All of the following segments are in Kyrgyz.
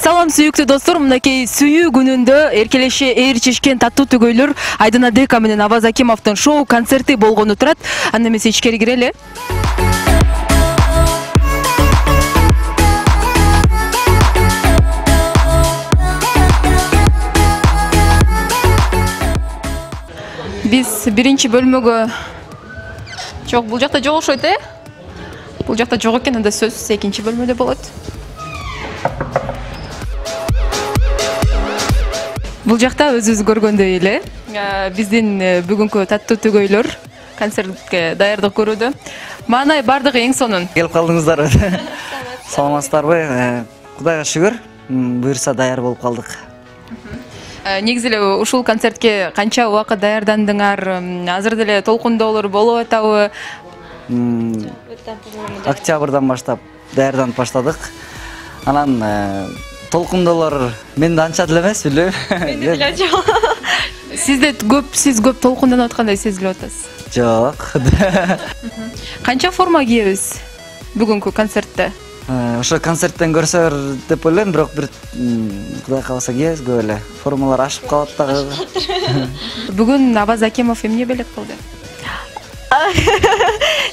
Салам сүйүктүү достор, мынакей сүйүү күнүндө эркелеши ээрчишкен таттуу түгөйлөр Айдын Адека менен Аваз Акимовдун шоу концерти болгону турат. Анда эмесе ичкери кирели. Биз биринчи бөлмөгө жок, бул жакта жок окшойт, Бул жакта жок экен, анда сөзсүз экинчи бөлмөдө болот. Бул жакта өзүбүз көргөндөй эле биздин бүгүнкү таттуу түгөйлөр концертке даярдык көрүүдө. Маанай бардыгы эң сонун. Келип калдыңыздарбы? Саламатсыздарбы? Кудайга шүгүр, буюрса даяр болуп калдык. Негизи эле ушул концертке канча убакыт даярдандыңар? Азыр деле толкундоолор болуп атабы? Октябрдан баштап даярданып баштадык. Анан толкундоолор менде анча деле эмес, билбейм. Менде деле жок. Сиз көп толкунданып аткандай сезилип атасыз. Жок. Канча форма кийебиз бүгүнкү концертте? Ошо концерттен көрсөөр деп ойлойм, бирок бир Кудай кааласа кийебиз көп эле. Формалар ашып калат дагы. Бүгүн Аваз Акимов эмне белек кылды?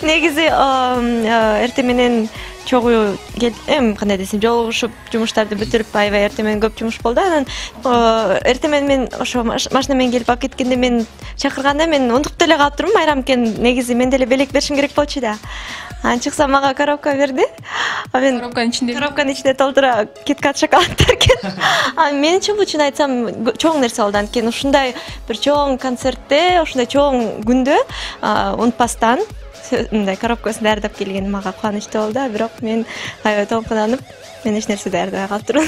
Негизи эртең менен чогуу кандай десем, жолугушуп жумуштарды бүтүрүп, аябай эртең менен көп жумуш болду. Анан эртең менен мен ошо машина менен келип алып кеткенде мен чакырганда мен унутуп деле калыптырмын. Майрам экен, негизи мен деле белек беришим керек болчу да. Анан чыксам мага коробка берди. Мен коробканын ичинде толтура KitKat шоколадтар экен. Анан менчи чын айтсам чоң нерсе болду. Анткени ушундай бир чоң концертте, ушундай чоң күндө унутпастан мындай коробкасын даярдап келген мага кубанычтуу болду. Бирок мен аябай толкунанып, мен эч нерсе даярдабай калыптырмын.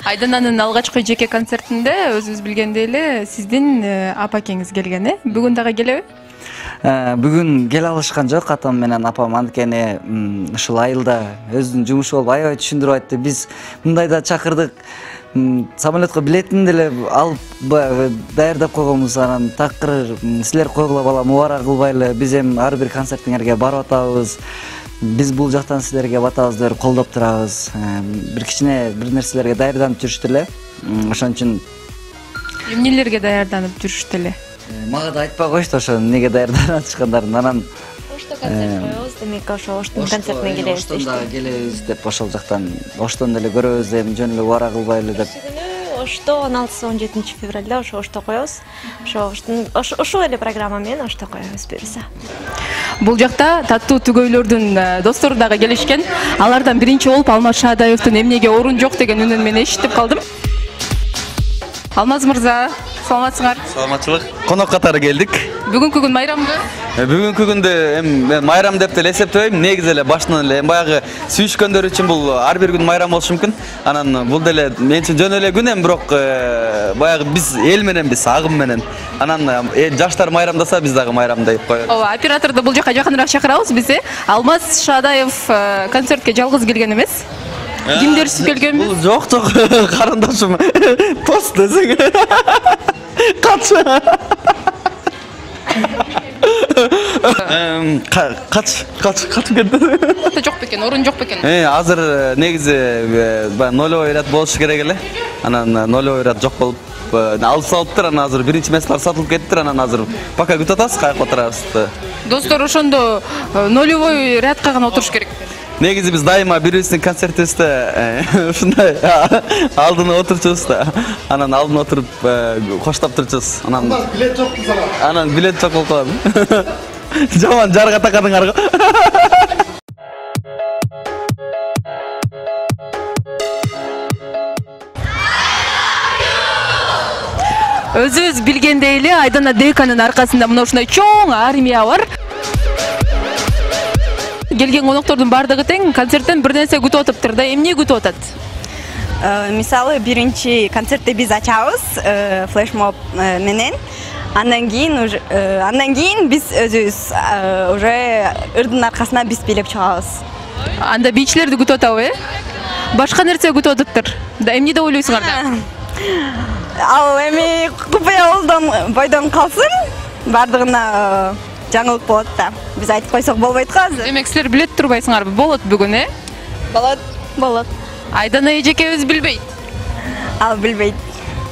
Айдананын алгачкы жеке концертинде өзүбүз билгендей эле сиздин апакеңиз келген, Бүгүн дагы келеби? Бүгүн келе алышкан жок атам менен апам, анткени ушул айылда өзүнүн жумушу болуп аябай түшүндүрүп айтты. Биз мындайда чакырдык, самолетко билетин деле алып даярдап койгонбуз. Анан такыр силер койгула бала, мубарак кылбайлы, биз эми ар бир концертиңерге барып атабыз. Биз бул жактан силерге батабызды берип колдоп турабыз. Бир кичине бир нерселерге даярданып жүрүштү эле. Ошон үчүн эмнелерге даярданып жүрүштү эле? Мага да айтпай коюшту ошо эмнеге даярданып атышкандарын. Анан ошто концерт коебуз, демек ошо оштун концертине келебиз дештик. Оштон да келебиз деп, ошол жактан оштон деле көрөбүз деп, жөн эле убара кылбайлы деп. Ошто 16-17 февралда ошто коебуз. Ошол эле программа менен ошто коебуз буюрса. Бул жакта таттуу түгөйлөрдүн достору дагы келишкен. Алардан биринчи болуп Алмаз Шаадаевдин эмнеге орун жок деген үнүн мен эшитип калдым. Алмаз мырза, саламатсыңар? Саламатчылык. Конок катары келдик. Бүгүнкү күн майрамбы? Бүгүнкү күндө мен майрам деп деле эсептебейм. Негизи эле башынан эле баягы сүйүшкөндөр үчүн бул ар бир күн майрам болушу мүмкүн. Анан бул деле мен үчүн жөн эле күн, бирок баягы биз эл мененбиз, агым менен. Анан жаштар майрамдаса биз дагы майрамдайып коебуз. Ооба, операторду бул жака жакыныраак чакырабыз биз. Алмаз Шаадаев концертке жалгыз келген эмес. Кимдерсиз келгенбиз? Бул жок, карындашым. Тост десең. Качып кетти. Жок бекен, орун жок бекен. Азыр негизи нолевой ряд болушу керек эле. Анан нолевой ряд жок болуп алып салыптыр. Анан азыр биринчи месталар сатылып кеттир. Анан азыр пока күтүп атабыз, каяка отурабыз. Достор, ошондо нолевой рядка гана отуруш керек. Негизи биз дайыма бирибиздин концертибизде ушундай алдына отурчубуз да. Анан алдына отуруп коштоп турчубуз. Анан билет жок кыздар. Анан билет жок болуп калат. Жаман жарга такадыңар го. Өзүбүз билгендей эле Айдын Адеканын аркасында мына ушундай чоң армия бар. Келген коноктордун бардыгы тең концерттен бир нерсе күтүп атыптыр да. Эмне күтүп атат? Мисалы биринчи концертти биз ачабыз флешмоб менен. Андан кийин биз өзүбүз уже ырдын аркасына биз бийлеп чыгабыз. Анда бийчилерди күтүп атабы, Башка нерсе күтүп атыптыр. Да эмне деп ойлойсуңар да? Ал эми купуя бойдон калсын, бардыгына жаңылык болот да. Биз айтып койсок болбойт го азыр. Демек силер билет турбайсыңарбы? Болот бүгүн, Болот. Айдана эжекебиз билбейт. Ал билбейт.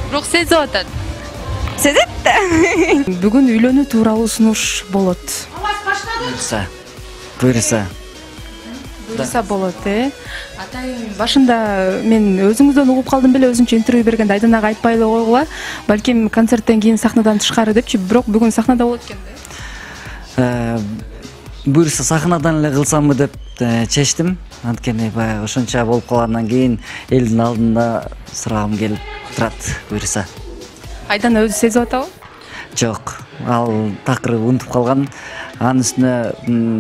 Бирок сезип атат. Сезет да. Бүгүн үйлөнүү тууралуу сунуш болот. Буюрса Болот, Атайын башында мен өзүңүздөн угуп калдым беле, өзүнчө интервью бергенде Айданага айтпай эле койгула. Балким концерттен кийин сахнадан тышкары депчи, бирок бүгүн сахнада болот экен да. Буюрса сахнадан эле кылсамбы деп чечтим. Анткени баягы ошонча болуп калгандан кийин элдин алдында сурагым келип турат. Буюрса. Айдана өзү сезип атабы? Жок, ал такыр унутуп калган. Анын үстүнө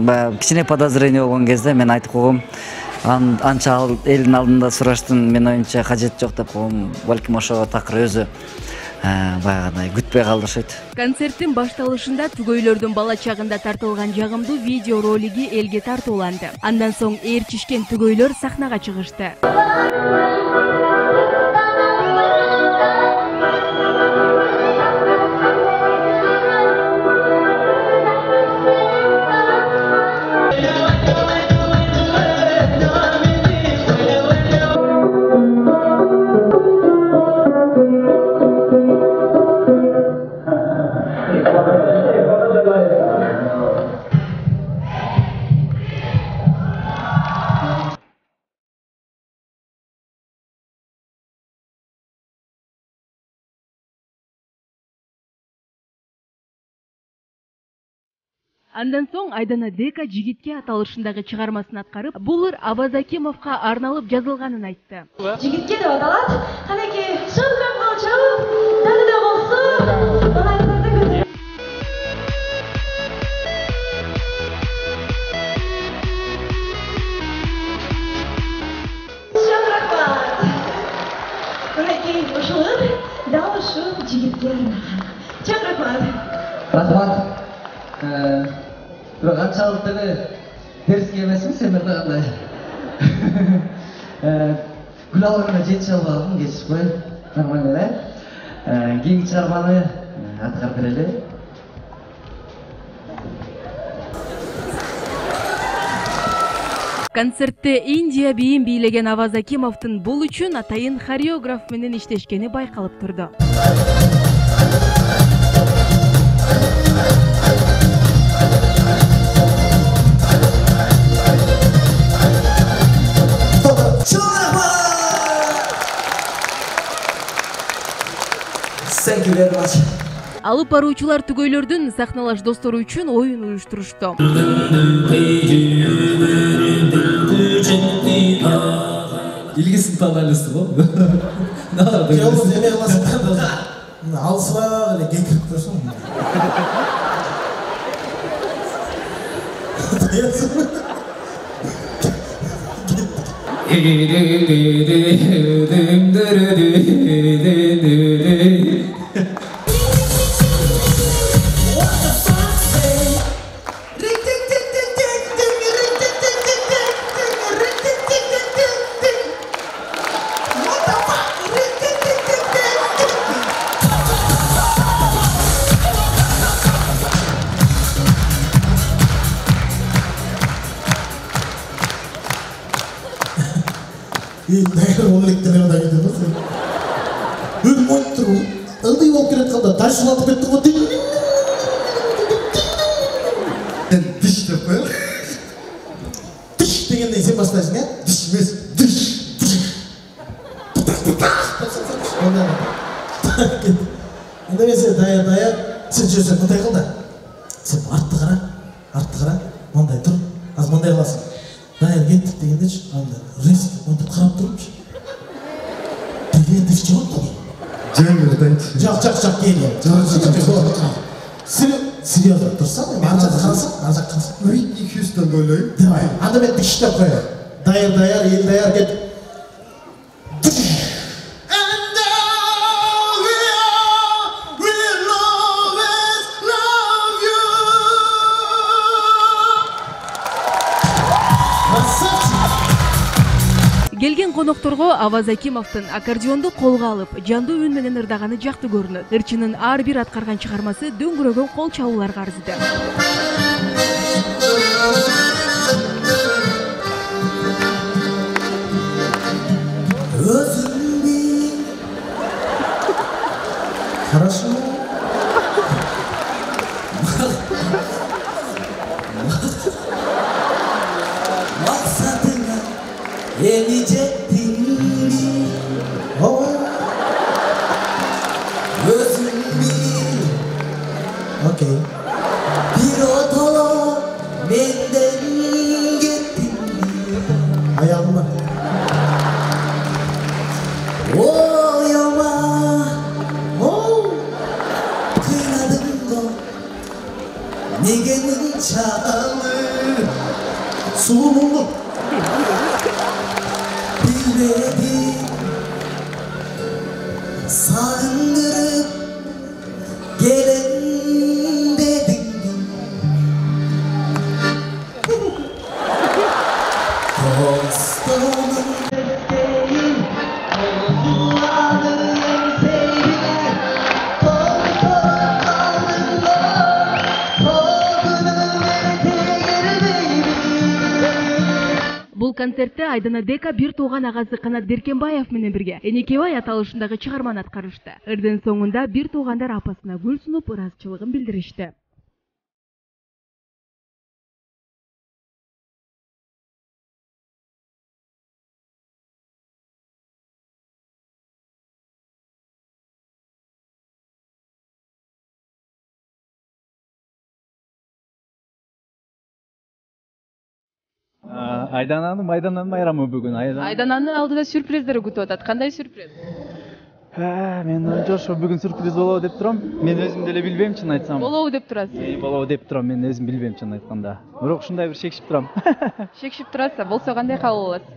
баягы кичине подозрение болгон кезде мен айтып койгом. Анча ал элдин алдында сураштын мен оюмча кажети жок деп койгом. Балким ошого такыр өзү баягыдай күтпөй калды окшойт. Концерттин башталышында түгөйлөрдүн бала чагында тартылган жагымдуу видео ролиги элге тартууланды. Андан соң ээрчишкен түгөйлөр сахнага чыгышты. Андан соң Айдана Дека жигитке аталышындагы чыгармасын аткарып, бул ыр Аваз Акимовго арналып жазылганын айтты. Жигитке деп аталат. Канеки, шылган болчу, дагы да болсун. Балайдарды көтөр. Шамракбат. Канеки, ушул дал ушул жигитке арналган. Шамракбат. Рахмат. Бирок анчалык деле терске эмесмин сендер дагы. Гүл алганда жетише албадым, кечирip кой. Нормально эле. Кийинки чыгарманы аткарып берели. Концертте Индия бийин бийлеген Аваз Акимовдун бул үчүн атайын хореограф менен иштешкени байкалып турду. Алып баруучулар түгөйлөрдүн сахналаш достору үчүн оюн уюштурушту. Илгисин таалайлысы го. Жолу эме кыласың. Алсыраак эле кекирип турсуң. Дайыр олектелер да кетеді ғой. Өлім ойып тұр ғой. Ылдый болып келет қалда тайшылатып кетті ғой. Сен диш деп қой. Диш дегенде сен бастайсың, ә? Диш емес, диш. Онда мен сен дайыр, сен жүрсен мындай қыл да. Сен артты қара, мындай тұр, аз мындай қыласың. Дайыр кеттік дегенде ше, анда резко мындай қарап тұрмшы. Дегенде ше жоқ қой. Жоқ, келе. Серьезно тұрсам, ар жаққа қарасам. Ой, 200-тан ойлайым. Давай, анда мен діштеп қояр. Дайыр, ел дайыр кет. Келген конокторго Аваз Акимовдун аккордеонду колго алып, жандуу үн менен ырдаганы жакты көрүнөт. Ырчынын ар бир аткарган чыгармасы дөңгөрөгөн кол чабууларга арзыды. Özün bil. Хорошо. Maksadına erecektin mi? Oh. Özün bil. Okay. Bir otola benden gittin mi? Ayağım var. Oyama, kıynadım da negenin çağını sulumu bilmedim sandırıp gelen dedim dostumun desteği Бул концертте Айдана Дека бир тууган агасы Канат Беркенбаев менен бирге Энекебай аталышындагы чыгарманы аткарышты. Ырдын соңунда бир туугандар апасына гүл сунуп ыраазычылыгын билдиришти. Айдананын майрамы бүгүн. Айдананын алдыда сюрприздер күтүп атат. Кандай сюрприз? Мен ошо бүгүн сюрприз болобу деп турам. Мен өзүм деле билбейм, чын айтсам. Болобу деп турасыз. Болобу деп турам, мен өзүм билбейм, чын айтканда. Бирок ушундай бир шекшип турам. Шекшип турасыз. Болсо кандай кабыл аласыз?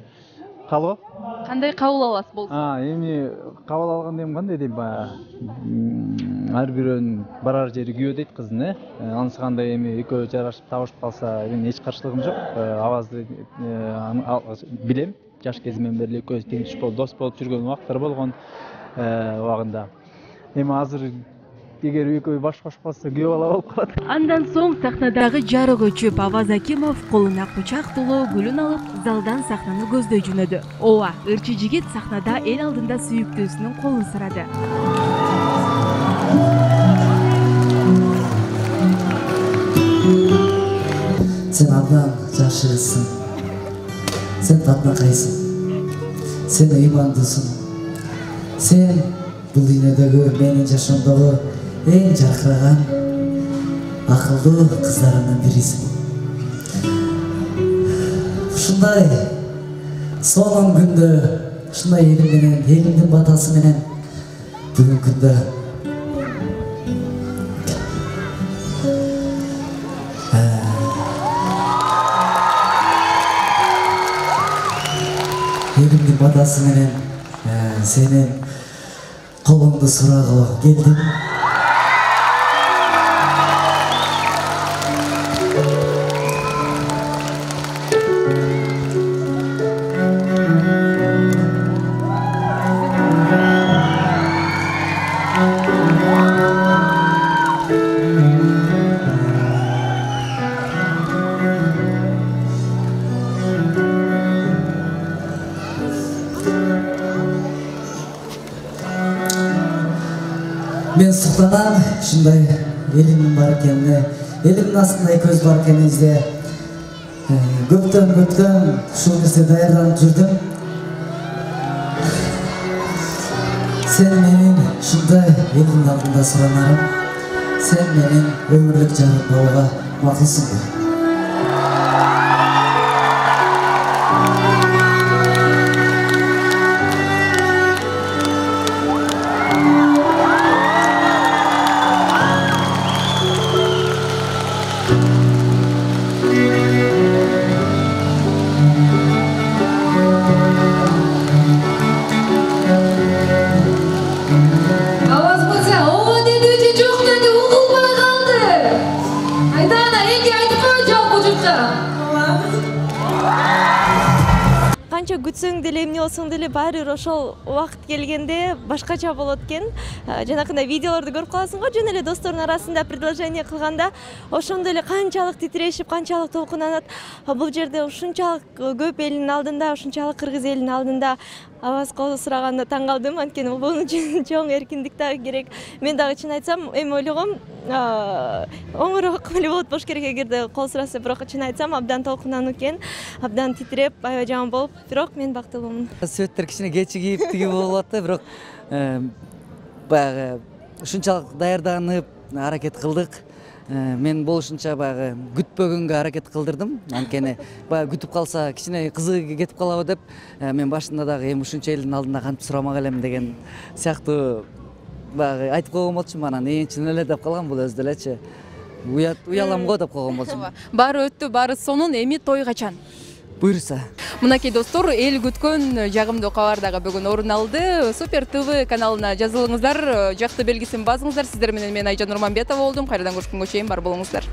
Кабыл? Кандай кабыл аласыз болсо? Эми кабыл алганда кандай дейм, баягы ар бирөөнүн барар жери күйөө дейт кыздын, анысы кандай эми экөө жарашып табышып калса, мен эч каршылыгым жок. Авазды билем. Жаш кезимден бери экөөбүз тең туш болуп, дос болуп жүргөн убактар болгон убагында. Эми азыр эгер экөө баш кошуп калса күйөө бала болуп калат. Андан соң сахнадагы жарык өчүп, Аваз Акимов колуна кучак толуу гүлүн алып, залдан сахнаны көздөй жөнөдү. Ооба, ырчы жигит сахнада эл алдында сүйүктүүсүнүн колун сурады. Sen abdan жашырысың. Sen татынакайсың. Sen ыймандысың. Sen бул дүйнөдөгү менин жашоомдогу эң жаркыраган акылдуу кыздарымдын бирисиң. Ушундай сонун күндө, ушундай элим менен, элимдин батасы менен бүгүнкү күндө элимдин батасы менен сенин колуңду сурагыла келдим. Мен суктанам, ушундай элимдин бар экенине, элимдин астында көз бар экенибизде көптөн ушул нерсе даярданып жүрдүм. Sen менин ушундай элимдин алдында суранарым, sen менин өмүрлүк жарым болууга макулсуңбу? Канча күтсөң деле эмне болсоң деле баары бир ошол убакыт келгенде башкача болот экен. Жанакындай видеолорду көрүп каласың го, жөн эле достордун арасында предложение кылганда ошондой эле канчалык титирешип, канчалык толкунанат. Бул жерде ушунчалык көп элдин алдында, ушунчалык кыргыз элинин алдында Авазга сураганда таң калдым, анткени бул үчүн чоң эркиндик дагы керек. Мен дагы чын айтсам, эми ойлогом, оңорук эле болот болуш керек эгерде кол сураса, бирок чын айтсам, абдан толкунануу экен, абдан титиреп, аябай жаман болуп, бирок мен бактылуумун. Светтер кичине кечигип тигип болуп атты, бирок баягы ушунчалык даярданып аракет кылдык. Мен болушунча баягы күтпөгөнгө аракет кылдырдым. Анткени баягы күтүп калса кичине кызыгы кетип калабы деп, мен башында дагы эми ушунча элдин алдында кантип сурамак элем деген сыяктуу баягы айтып койгон болчумун. Анан чын эле деп калгам, бул өзү делечи уялам го деп койгон болчумун. Баары өттү, баары сонун, эми той качан? Буйрса. Мынакей достор, эл күткөн жагымдуу кабар дагы бүгүн орун алды. Супер ТВ каналына жазылыңыздар, жакты белгисин басыңыздар. Сиздер менен мен Айжан Нурманбетова болдум. Кайрадан көрүшкөнгө чейин бар болуңуздар.